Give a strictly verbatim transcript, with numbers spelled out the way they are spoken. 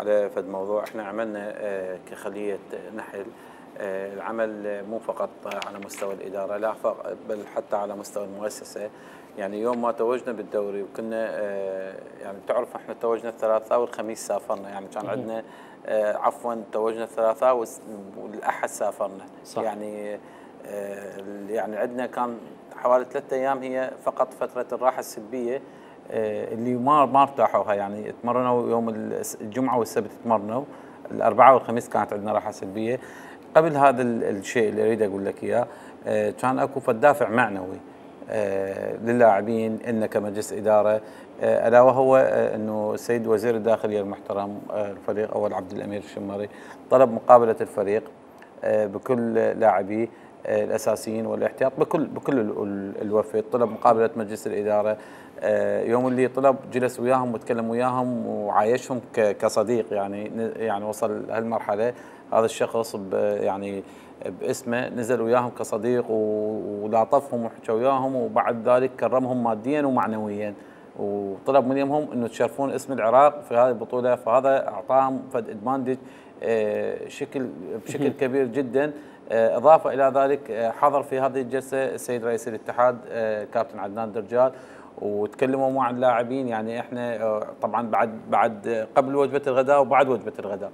على فد موضوع احنا عملنا كخليه نحل العمل مو فقط على مستوى الاداره لا بل حتى على مستوى المؤسسه. يعني يوم ما توجنا بالدوري وكنا يعني تعرف احنا توجنا الثلاثاء والخميس سافرنا، يعني كان عندنا عفوا توجنا الثلاثاء والاحد سافرنا. صح. يعني يعني عندنا كان حوالي ثلاثة ايام هي فقط فتره الراحه السلبيه اللي ما ما ارتاحوها، يعني تمرنوا يوم الجمعه والسبت تمرنوا، الاربعاء والخميس كانت عندنا راحه سلبيه. قبل هذا الشيء اللي اريد اقول لك اياه كان اكو فدافع معنوي للاعبين ان كمجلس اداره، الا وهو انه السيد وزير الداخليه المحترم الفريق اول عبد الامير الشمري طلب مقابله الفريق بكل لاعبيه الاساسيين والاحتياط بكل بكل الوفد، طلب مقابله مجلس الاداره. يوم اللي طلب جلس وياهم وتكلم وياهم وعايشهم كصديق، يعني يعني وصل هالمرحله هذا الشخص يعني باسمه نزل وياهم كصديق ولاطفهم وحكى وياهم، وبعد ذلك كرمهم ماديا ومعنويا وطلب منهم انه تشرفون اسم العراق في هذه البطوله، فهذا اعطاهم فد ادفانتج شكل بشكل كبير جدا. اضافه الى ذلك حضر في هذه الجلسه السيد رئيس الاتحاد كابتن عدنان درجال وتكلموا مع اللاعبين. يعني احنا طبعا بعد بعد قبل وجبه الغداء وبعد وجبه الغداء